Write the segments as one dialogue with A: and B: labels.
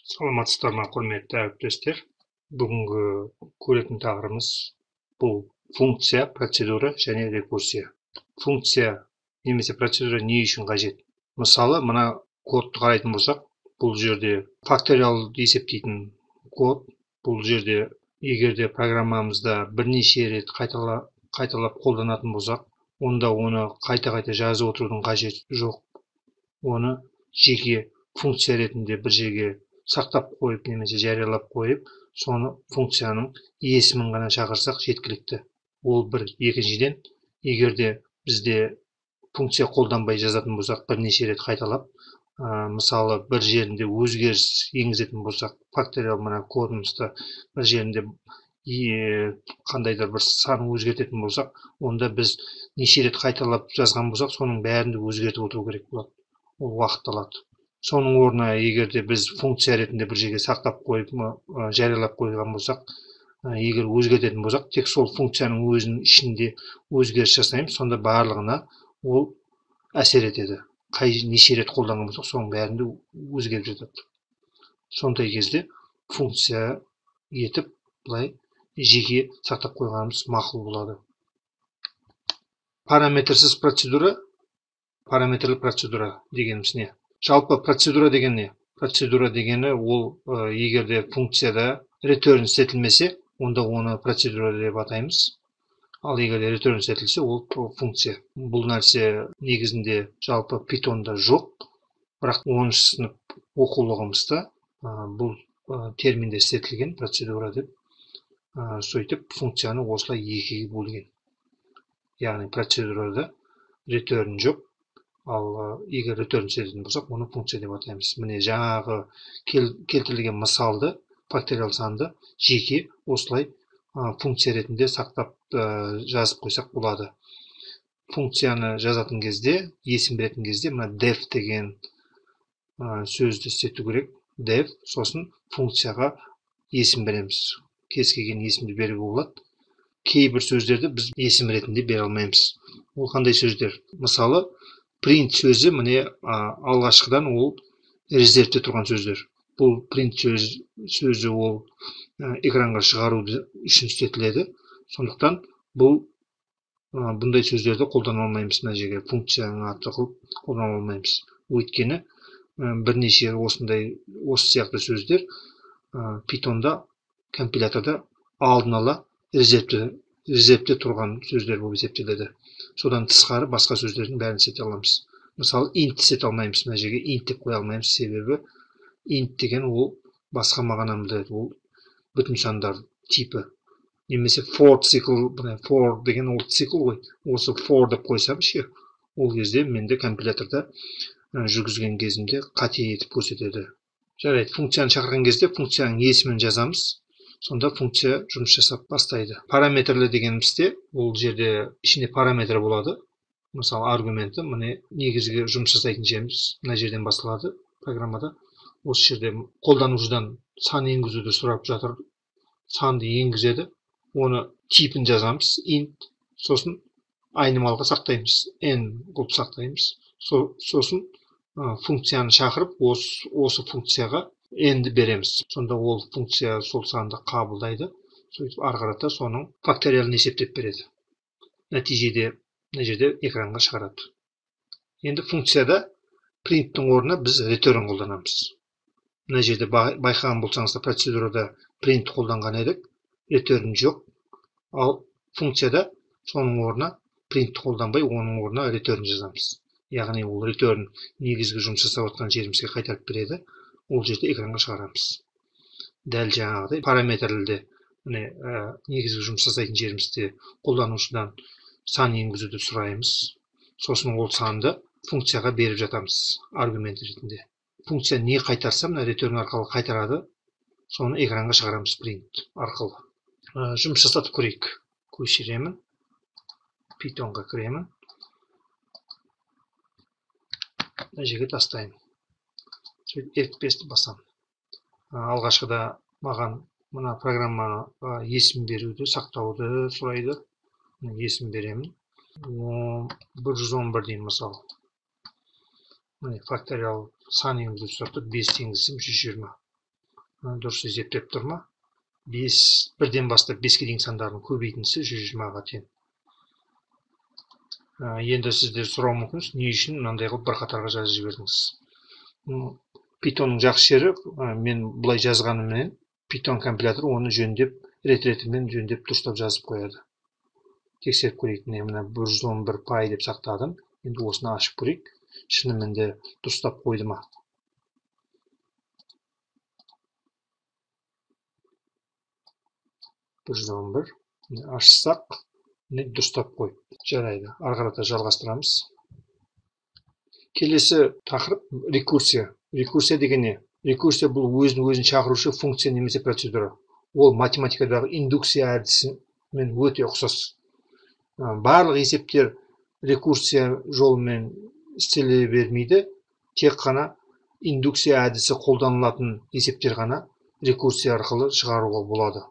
A: Саламатсыздар ма, құрметті әріптестер. Бүгінгі көретін тақырыбымыз бұл функция, процедура және рекурсия. Функция немесе процедура не үшін қажет? Мысалы, мына кодты қарайтын болсақ, бұл жерде факториалды есептейтін код. Бұл жерде егерде программамызда бірнеше рет қайталап қолданатын болсақ, онда оны қайта жазып отырудың қажеті жоқ. Оны жеке функция ретінде бір жерге сақтап қойып немесе жариялап қойып, соны функцияның есімін ғана шақырсақ жеткілікті. Ол бір. Екіншіден, егерде бізде функция қолданбай жазатын болсақ, бірнеше рет қайталап, мысалы бір жерінде өзгеріс енгізетін болсақ, факториал мына кодымызда бір жерінде қандайда бір сан өзгертетін болсақ, онда біз неше рет қайталап жазған болсақ, соның бәрінде өзгертіп отыру керек болады. Ол уақыт алады. Соның орнына егерде біз функция ретінде бір жерге сақтап қойып, жариялап қойған болсақ, егер өзгертетін болсақ, тек сол функцияның өзінің ішінде өзгеріс жасаймыз, сонда барлығына ол әсер етеді. Неше рет қолданған болсақ, соның бәрінде өзгеріп жатады. Сондай кезде функция етіп былай жеке сақтап қойғанымыз мақұл болады. Параметрсіз процедура, параметрлі процедура дегеніміз не? Жалпы процедура деген не? Процедура дегені ол егерде функцияда return сетілмесе, онда оны процедура деп атаймыз. Ал егерде return сетілсе, ол функция. Бұл нәрсе негізінде жалпы Python'да жоқ, бірақ 10-шы сынып оқулығымызда бұл терминде сетілген процедура деп, сөйтіп функцияны осылай екіге бөлген. Яғни процедурада return жоқ. Ал егер return сететін болсақ, оны функция деп атаймыз. Міне жаңағы келтірілген мысалды, факториал санды жеке осылай функция ретінде сақтап жазып қойсақ болады. Функцияны жазатын кезде, есім беретін кезде, мына def деген сөзді істету керек. Def, сосын функцияға есім береміз. Кез келген есімді беруге болады. Кейбір сөздерді біз есім ретінде бере алмаймыз. Ол қандай сөздер? Мысалы, print сөзі міне алғашқыдан ол резервте тұрған сөздер. Бұл print сөзі ол экранға шығару үшін істетіледі. Сондықтан бұндай сөздерді қолдана алмаймыз. Мына жерге функцияның аты қылып қолдана алмаймыз. Өйткені бірнеше осы сияқты сөздер Python'да, компиляторда алдын ала резервте тұрған сөздер болып есептеледі. Содан тысқары басқа сөздердің бәрін сете аламыз. Мысалы, int сете алмаймыз. Мына жерге int деп қоя алмаймыз, себебі int деген ол басқа мағынаны білдіреді. Ол бүтін сандар типі. Немесе for цикл, for деген ол цикл ғой. Осы for деп қойсам ше, ол кезде менде компиляторда жүргізген кезінде қате етіп көрсетеді. Жарайды, функцияны шақырған кезде функцияның есімін жазамыз. Сонда функция жұмыс жасап бастайды. Параметрлі дегенімізде, ол жерде ішінде параметр болады. Мысалы, аргументі, міне негізгі жұмыс жасайтын жеріміз мына жерден басталады программада. Осы жерде қолданушыдан сан енгізуді сұрап жатыр. Санды енгізеді. Оны типін жазамыз, int, сосын айнымалға сақтаймыз, n қылып сақтаймыз. Сосын функцияны шақырып, осы функцияға n-ді береміз. Сонда ол функция сол санды қабылдайды. Сөйтіп арқарата соның факториалын есептеп береді. Нәтижеде мына жерде экранға шығарады. Енді функцияда print-тің орнына біз return қолданамыз. Мына жерде байқаған болсаңыздар, процедурада print қолданған едік, return жоқ. Ал функцияда соның орнына print қолданбай, оның орнына return жазамыз. Яғни ол return негізгі жұмыс жасап отқан жерімізге қайтарып береді. Ол жерде экранға шығарамыз. Дәл жаңағыдай параметрлі негізгі жұмыс жасайтын жерімізде қолданушыдан сан енгізуді сұраймыз. Сосын ол санды функцияға беріп жатамыз аргумент ретінде. Функция не қайтарса, мына return арқылы қайтарады. Соны экранға шығарамыз print арқылы. Жұмыс жасатып көрейік. Көшіремін. Pythonға кіремін. Мына жерге тастаймын. F5-ті басамын. Алғашқыда маған мына программаға есім беруді, сақтауды сұрайды. Есім беремін. 111 деймін мысалы. Факториал сан енгізу сұрапты, 5 енгізсем 120. дұрыс есептеп тұр ма? 1-ден бастап 5-ке дейін сандардың көбейтіндісі 120-ға тең. Енді сіздер сұрау мүмкінсіз, не үшін мынандай қылып бір қатарға жазып жібердіңіз? Pythonның жақсы жері, мен бұлай жазғаныммен Python компилятор оны жөндеп, рет-ретімен жөндеп дұрыстап жазып қояды. Тексеріп көрейік. Мына 111 пай деп сақтадым. Енді осыны ашып көрейік. Шынымен де дұрыстап қойды ма? 111. Ашсақ, дұрыстап қой. Жарайды. Ары қарата жалғастырамыз. Келесі тақырып рекурсия. Рекурсия деген не? Рекурсия бұл өзін шақырушы функция немесе процедура. Ол математикадағы индукция әдісімен өте ұқсас. Барлық есептер рекурсия жолымен істеле бермейді. Тек қана индукция әдісі қолданылатын есептер ғана рекурсия арқылы шығаруға болады.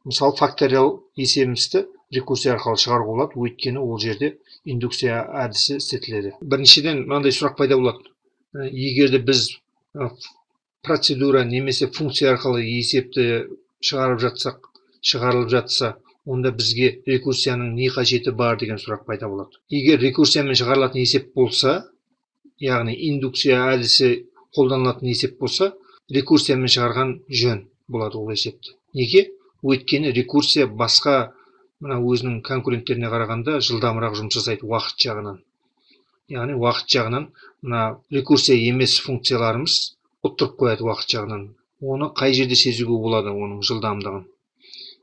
A: Мысалы, факториал есебімізді рекурсия арқылы шығаруға болады, өйткені ол жерде индукция әдісі істетіледі. Біріншіден мынандай сұрақ пайда болады. Егер де біз процедура немесе функция арқылы есепті шығарылып жатса, онда бізге рекурсияның не қажеті бар деген сұрақ пайда болады. Егер рекурсиямен шығарылатын есеп болса, яғни индукция әдісі қолданылатын есеп болса, рекурсиямен шығарған жөн болады ол есепті. Неге? Өйткені рекурсия басқа өзінің конкуренттеріне қарағанда жылдамырақ жұмыс жасайды уақыт жағынан. Яғни уақыт жағынан рекурсия емес функцияларымыз ұттырып қояды уақыт жағынан. Оны қай жерде сезуге болады оның жылдамдығын?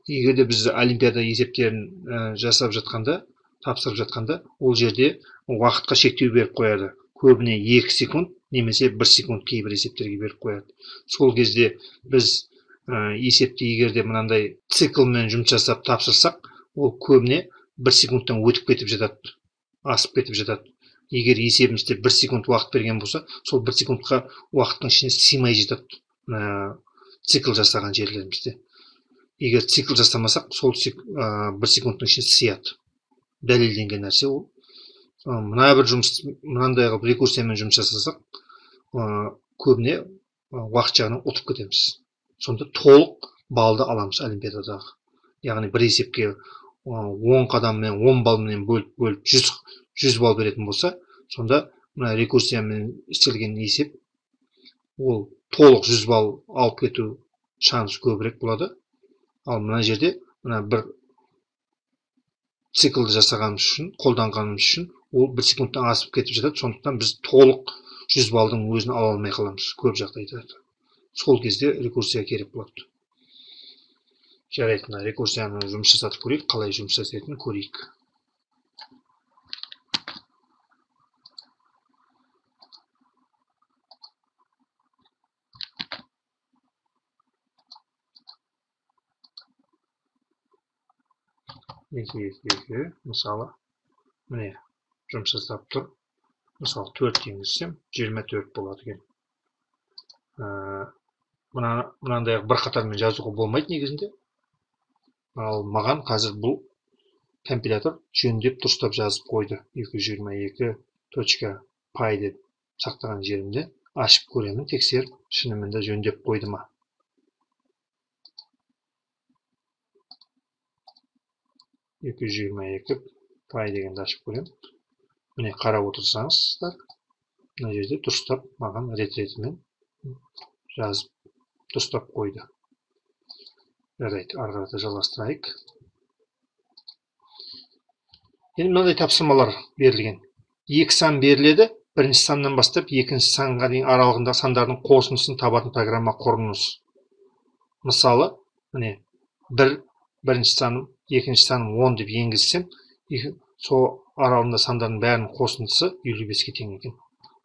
A: Егер де біз олимпиада есептерін жасап жатқанда, тапсырып жатқанда, ол жерде уақытқа шектеу беріп қояды. Көбіне 2 секунд немесе 1 секунд кейбір есептерге беріп қояды. Сол кезде біз есепті егер де мынандай циклмен жұмыс жасап тапсырсақ, ол көбіне 1 секундтан өтіп кетіп жатады, асып кетіп жатады. Егер есебімізде 1 секунд уақыт берген болса, сол 1 секундқа уақыттың ішіне сыймай жатады цикл жасаған жерлерімізде. Егер цикл жасамасақ, сол 1 секундтың ішіне сыяды. Дәлелденген нәрсе ол. Мына бір жұмыс, мынандай қылып рекурсиямен жұмыс жасасақ, көбіне уақыт жағынан ұтып кетеміз. Сонда толық балды аламыз олимпиададағы. Яғни бір есепке 10 қадаммен, 10 балмен бөліп 100 бал беретін болса, сонда рекурсиямен істелген есеп ол толық 100 бал алып кету шансы көбірек болады. Ал мына жерде бір циклды жасағанымыз үшін, қолданғанымыз үшін ол 1 секундтан асып кетіп жатады. Сондықтан біз толық 100 балдың өзін ала алмай қаламыз көп жағдайда. Сол кезде рекурсия керек болады. Жарайды, рекурсияны жұмыс жасатып көрейік, қалай жұмыс жасайтынын көрейік. Екі, мысалы, міне жұмыс жасап тұр. Мысалы 4 енгізсем 24 болады екен. Мынандай бір қатармен жазуға болмайды негізінде. Ал маған қазір бұл компилятор жөндеп дұрыстап жазып қойды. 222.py деп сақтаған жерімде ашып көремін, тексеріп, шынымен де жөндеп қойды ма. 222.py дегенді ашып көремін. Міне қарап отырсаңыздар, мына жерде дұрыстап маған рет-ретімен жазып дұрыстап қойды. Жарайды, ары қарата жалғастырайық. Енді мынандай тапсырмалар берілген. 2 сан беріледі, бірінші саннан бастап екінші санға дейін аралығында сандардың қосындысын табатын программа құрыңыз. Мысалы, міне бірінші саным, екінші саным 10 деп енгізсем, сол аралығында сандардың бәрінің қосындысы 55-ке тең екен.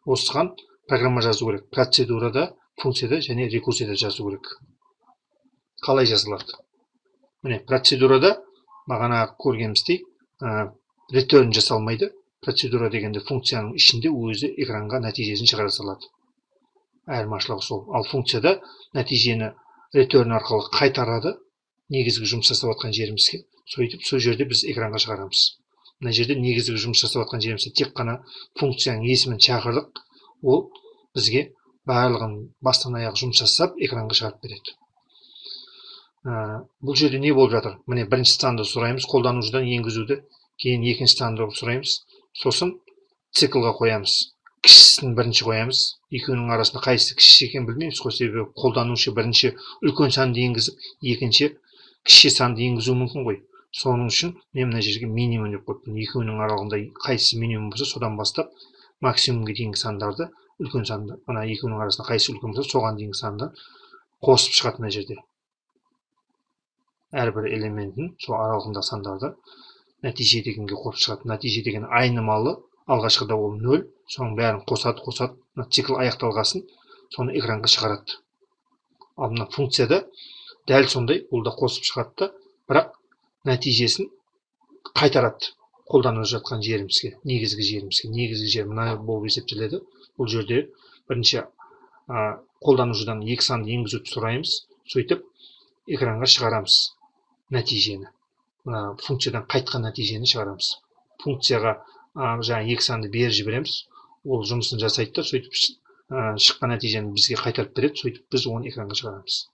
A: Осыған программа жазу керек. Процедурада, функцияда және рекурсияда жазу керек. Қалай жазылады? Міне, процедурада бағана көргеніміздей return жасалмайды. Процедура дегенде функцияның ішінде өзі экранға нәтижесін шығара салады. Айырмашылығы сол. Ал функцияда нәтижені return арқылы қайтарады, негізгі жұмыс жасап жатқан жерімізге. Сөйтіп, сол жерде біз экранға шығарамыз. Мына жерде негізгі жұмыс жасап жатқан жерімізде тек қана функцияның есімін шақырдық. Ол бізге барлығын бастан аяқ жұмыс жасап экранға шығарып береді. Бұл жерде не болып жатыр? Міне бірінші санды сұраймыз, қолданушыдан енгізуді, кейін екінші санды сұраймыз, сосын циклға қоямыз. Кішісін бірінші қоямыз. Екеуінің арасында қайсысы кіші екенін білмейміз ғой, себебі қолданушы бірінші үлкен санды енгізіп, екінші кіші санды енгізуі мүмкін ғой. Соның үшін мен мына жерге минимум деп қойыппын. Екеуінің аралығында қайсысы минимум болса, содан бастап максимумға дейінгі сандарды, үлкен санды, ана екеуінің арасында қайсысы үлкен болса, соған дейінгі санды қосып шығады мына жерде. Әрбір элементін, сол аралығында сандарды нәтиже дегенге қосып шығады. Нәтиже деген айнымалы, алғашқыда ол 0, соның бәрін қосады, цикл аяқталғасын, соны экранға шығарады. Ал мына функцияда дәл сондай, ол да қосып шығады, бірақ нәтижесін қайтарады қолданып жатқан жерімізге, негізгі жерімізге. Негізгі жер мына болып есептеледі. Бұл жерде бірінші қолданушыдан екі санды енгізуді сұраймыз, сөйтіп экранға шығарамыз нәтижені. Мына функциядан қайтқан нәтижені шығарамыз. Функцияға жаңа екі санды беріп жібереміз, ол жұмысын жасайды да, сөйтіп шыққан нәтижені бізге қайтарып береді, сөйтіп біз оны экранға шығарамыз.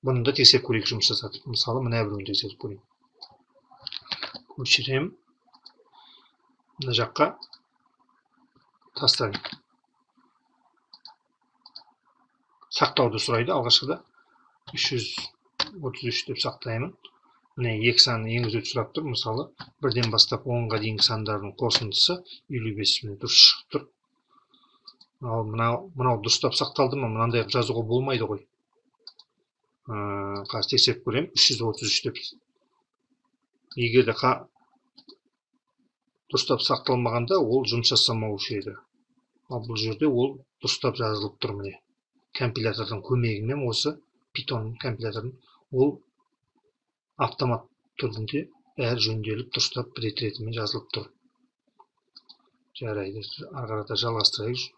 A: Бұны да тексеріп көрейік жұмыс жасады. Мысалы, мына біреуін тексеріп көрейік. Көшірем. Мына жаққа тастайын. Сақтауды сұрайды алғашқыда. 333 деп сақтаймын. Міне екі санды енгізуді сұрап тұр. Мысалы, бірден бастап 10-ға дейінгі сандардың қосындысы 55 дұрыс шығып тұр. Ал мынау дұрыстап сақталды ма? Мынандай жазуға болмайды ғой. Қазір тексеріп көрем. 333 деп. Егер де дұрыстап сақталмағанда, ол жұмыс жасамаушы еді. Ал бұл жерде ол дұрыстап жазылып тұр міне. Компилятордың көмегімен, осы Python компилятордың, ол автомат түрінде бәрі жөнделіп, дұрыстап рет-ретімен жазылып тұр. Жарайды, ары қарата жалғастырайық.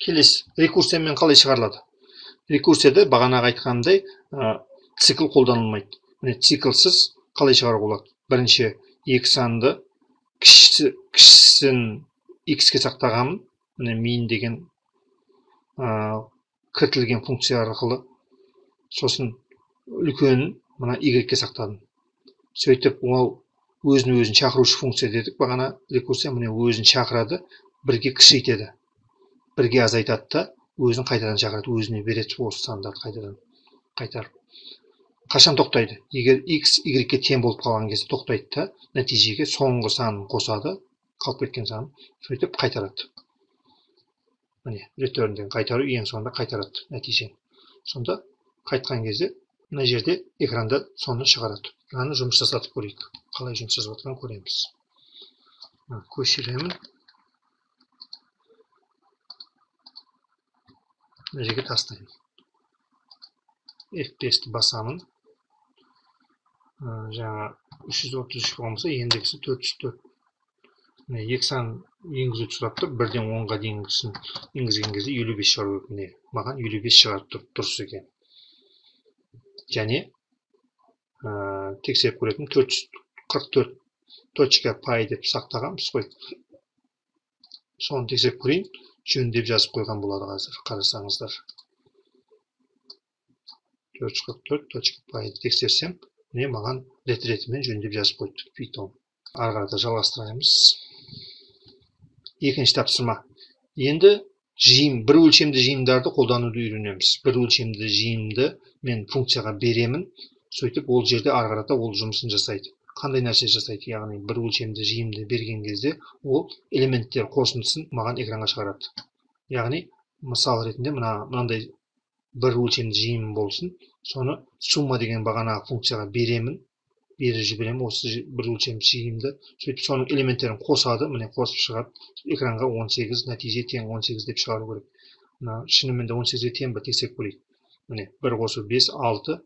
A: Келесі, рекурсиямен қалай шығарылады? Рекурсияда бағанағы айтқанымдай цикл қолданылмайды. Міне циклсыз қалай шығаруға болады? Бірінші екі санды кішісін x-ке сақтағанмын. Міне min деген кіртілген функция арқылы. Сосын үлкенін мына y-ке сақтадым. Сөйтіп ол өзін шақырушы функция дедік. Бағана рекурсия міне өзін шақырады, бірге кішійтеді. Бірге азайтады да, өзін қайтадан шақырады, өзіне береді осы сандарды қайтарып. Қашан тоқтайды? Егер x y-ге тең болып қалған кезде тоқтайды да, нәтижеге соңғы санын қосады, қалып кеткен санын, сөйтіп қайтарады. Міне, ретөрнден қайтару ең соңында қайтарады нәтижені. Сонда қайтқан кезде мына жерде экранда соны шығарады. Мынаны жұмыс жасатып көрейік. Қалай жұмыс жасап жатқанын көреміз. Көшіремін. Мына жерге тастаймын. F5-ті басамын. Жаңа 333 болмаса, ендігісі 404. Екі сан енгізуді сұрап тұр. Бірден 10-ға дейінгісін енгізген кезде 55 шығару керек. Маған 55 шығарып тұр, дұрыс екен. Және тексеріп көретін 444.py деп сақтағанбыз ғой. Соны тексеріп көрейін. Жөндеп жазып қойған болады қазір, қарасаңыздар. 444.py тексерсем, міне маған рет-ретімен жөндеп жазып қойды Python. Ары қарата жалғастырамыз. Екінші тапсырма. Енді жиын, бір өлшемді жиындарды қолдануды үйренеміз. Бір өлшемді жиынды мен функцияға беремін, сөйтіп ол жерде ары қарата ол жұмысын жасайды. Қандай нәрсе жасайды? Яғни бір өлшемді жиынды берген кезде ол элементтер қосындысын маған экранға шығарады. Яғни мысал ретінде мынандай бір өлшемді жиын болсын, соны сумма деген бағанағы функцияға беремін, беріп жіберемін осы бір өлшемді жиынды, сөйтіп соның элементтерін қосады, міне қосып шығады, экранға 18 нәтиже тең 18 деп шығару керек. Шынымен де 18-ге тең бе тексеріп көрейік. Міне 1 қосу 5, 6,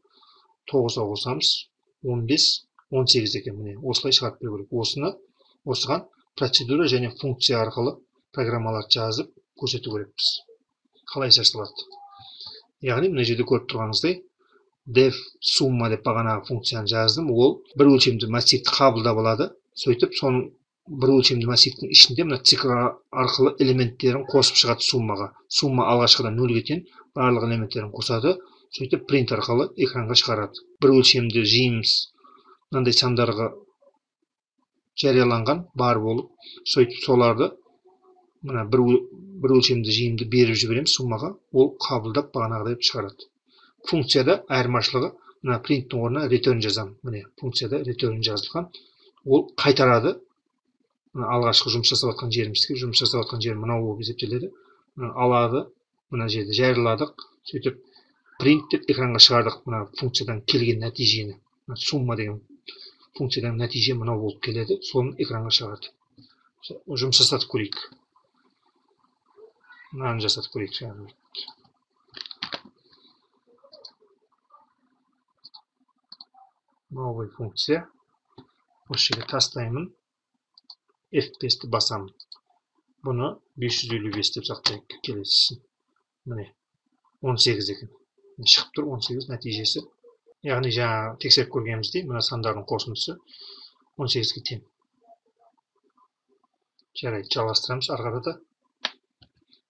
A: 9-ға қосамыз 15, 18 екен. Міне осылай шығарып беру керек. Осыған процедура және функция арқылы программалар жазып көрсету керекпіз. Қалай жасалады? Яғни мына жерде көріп тұрғаныңыздай def summa деп бағанағы функцияны жаздым. Ол бір өлшемді массивті қабылдап алады. Сөйтіп соның бір өлшемді массивтің ішінде мына цикл арқылы элементтерін қосып шығады суммаға. Сумма алғашқыда нөлге тең, барлық элементтерін қосады, сөйтіп принт арқылы экранға шығарады. Бір өлшемді жиымыз мынандай сандарға жарияланған бар болып, сөйтіп соларды мына бір өлшемді жиымды беріп жібереміз суммаға, ол қабылдап бағанағыдай шығарады. Функцияда айырмашылығы, мына принттің орнына return жазамын. Міне функцияда return жазылған. Ол қайтарады. Алғашқы жұмыс жасап жатқан жерімізге, жұмыс жасап жатқан жер мынау болып есептеледі. Алады, мына жерде жарияладық, сөйтіп print деп экранға шығардық мына функциядан келген нәтижені. Сумма деген функциядан нәтиже мынау болып келеді, соны экранға шығарды. Жұмыс жасатып көрейік. Мынаны жасатып көрейік. Новый функция. Осы жерге тастаймын. F5-ті басамын. Бұны 555 деп сақтайық келесісін. Міне 18 екен. Шығып тұр 18 нәтижесі. Яғни жаңа тексеріп көргеніміздей, мына сандардың қосындысы 18-ге тең. Жарайды, жалғастырамыз арқарада.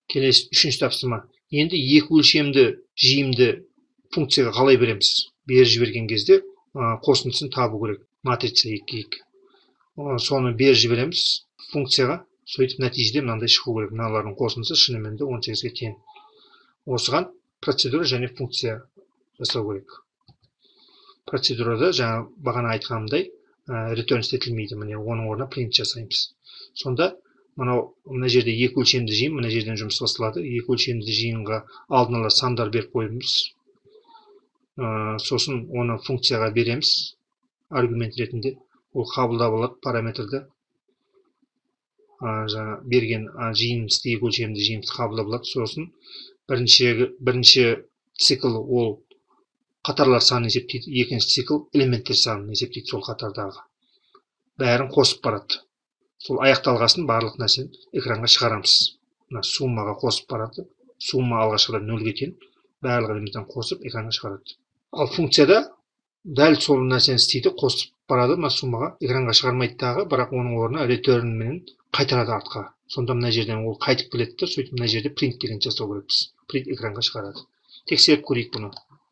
A: Келесі үшінші тапсырма. Енді екі өлшемді жиымды функцияға қалай береміз? Беріп жіберген кезде қосындысын табу керек. Матрица 2-2. Соны беріп жібереміз функцияға, сөйтіп нәтижеде мынандай шығу керек. Мыналардың қосындысы шынымен де 18-ге тең. Осыған процедура және функция жасау керек. Процедурада жаңа бағана айтқанымдай return істетілмейді. Міне оның орнына print жасаймыз. Сонда мына жерде екі өлшемді жиын, мына жерден жұмыс басталады. Екі өлшемді жиынға алдын ала сандар беріп қойымыз. Сосын оны функцияға береміз. Аргумент ретінде ол қабылдап алады параметрді. Жаңа берген жиынымызды, екі өлшемді жиынымызды қабылдап алады. Сосын бірінші цикл ол қатарлар санын есептейді, екінші цикл элементтер санын есептейді сол қатардағы. Бәрін қосып барады. Сол аяқталғасын барлық нәрсені экранға шығарамыз. Суммаға қосып барады. Сумма алғашқыда нөлге тең, барлық элементтен қосып экранға шығарады. Ал функцияда дәл сол нәрсені істейді, қосып барады суммаға, экранға шығармайды дағы, бірақ оның орнына return менен қайтарады артқа. Сонда мына жерден ол қайтып келеді, сөйтіп мына жерде print деген жасау керекпіз. Print экранға шығарады. Тексеріп көрейік бұны.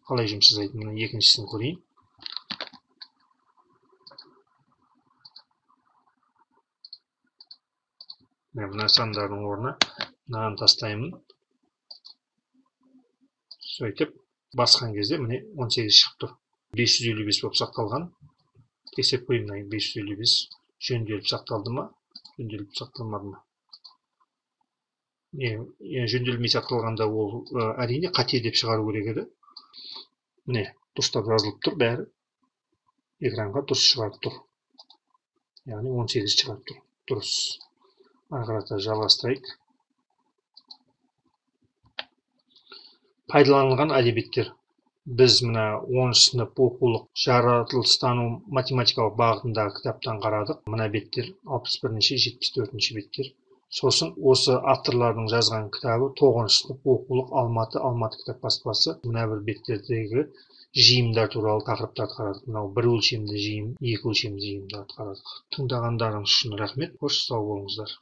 A: Қалай жұмыс жасайды? Мына екіншісін көрейін. Мына сандардың орнына мынаны тастаймын. Сөйтіп басқан кезде міне 18 шығып тұр. 555 болып сақталған. Тексеріп көрейін, 555 жөнделіп сақталды ма? Жөнделіп сақталмады ма? Жөнделмей сақталғанда ол әрине қате деп шығару керек еді. Міне, дұрыстап жазылып тұр бәрі. Экранға дұрыс шығарып тұр. Яғни 18 шығарып тұр. Дұрыс. Арқарата жалғастырайық. Пайдаланылған әдебиеттер. Біз мына 10 сынып оқулық жаратылыстану математикалық бағытындағы кітаптан қарадық. Мына беттер 61-ші, 74-ші беттер. Сосын осы авторлардың жазған кітабы 9 сынып оқулық Алматы кітап баспасы. Мына бір беттердегі жиымдар туралы тақырыптарды қарадық. Мынау бір өлшемді жиым, екі өлшемді жиымдарды қарадық. Тыңдағандарыңыз үшін рахмет. Қош сау болыңыздар.